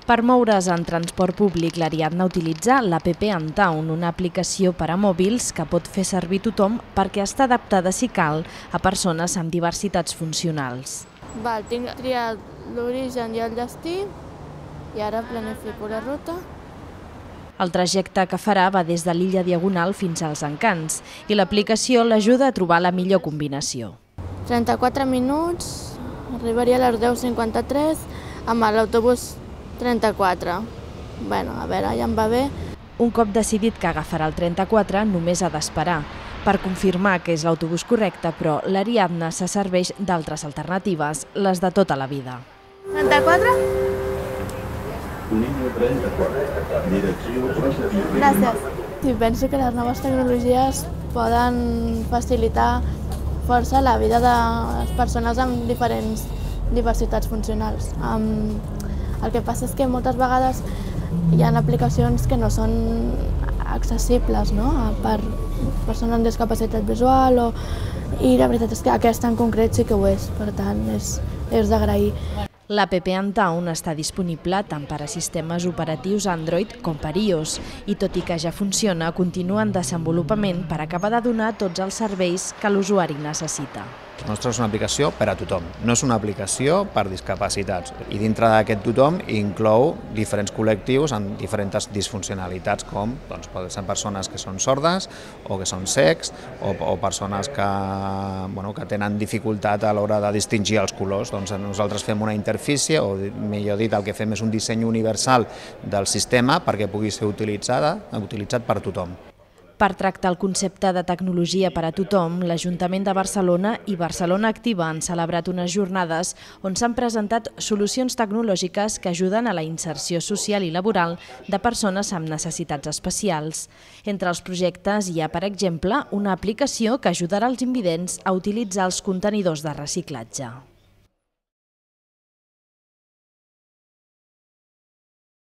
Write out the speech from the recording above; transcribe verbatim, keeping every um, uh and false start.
Per moure's en transport públic, l'Ariadna utilitza l'app Entown, una aplicació per a mòbils que pot fer servir tothom perquè està adaptada, si cal, a persones amb diversitats funcionals. Val, tinc triat l'origen i el destí i ara planifico la ruta. El trajecte que farà va des de l'illa Diagonal fins als Encants i l'aplicació l'ajuda a trobar la millor combinació. trenta-quatre minuts, arribaria a les deu cinquanta-tres amb l'autobús trenta-quatre. Bueno, a veure, ja em va bé. Un cop decidit que agafarà el trenta-quatre, només ha d'esperar per confirmar que és l'autobús correcte, però l'Ariadna se serveix d'altres alternatives, les de tota la vida. trenta-quatre? Línia trenta-quatre, direcció positiva. Gràcies. Sí, penso que les noves tecnologies poden facilitar força la vida de les persones amb diferents diversitats funcionals. Um, el que passa és que moltes vegades hi ha aplicacions que no són accessibles, no?, per persones amb discapacitat visual, o... i la veritat és que aquesta en concret sí que ho és, per tant és, és d'agrair. L'app Entown està disponible tant per a sistemes operatius Android com per iOS i, tot i que ja funciona, continua en desenvolupament per acabar de donar tots els serveis que l'usuari necessita. La nostra és una aplicació per a tothom, no és una aplicació per discapacitats. I dintre d'aquest tothom inclou diferents col·lectius amb diferents disfuncionalitats, com doncs, poden ser persones que són sordes o que són cecs o, o persones que, bueno, que tenen dificultat a l'hora de distingir els colors. Doncs nosaltres fem una interfície, o millor dit, el que fem és un disseny universal del sistema perquè pugui ser utilitzada, utilitzat per tothom. Per tractar el concepte de tecnologia per a tothom, l'Ajuntament de Barcelona i Barcelona Activa han celebrat unes jornades on s'han presentat solucions tecnològiques que ajuden a la inserció social i laboral de persones amb necessitats especials. Entre els projectes hi ha, per exemple, una aplicació que ajudarà els invidents a utilitzar els contenidors de reciclatge.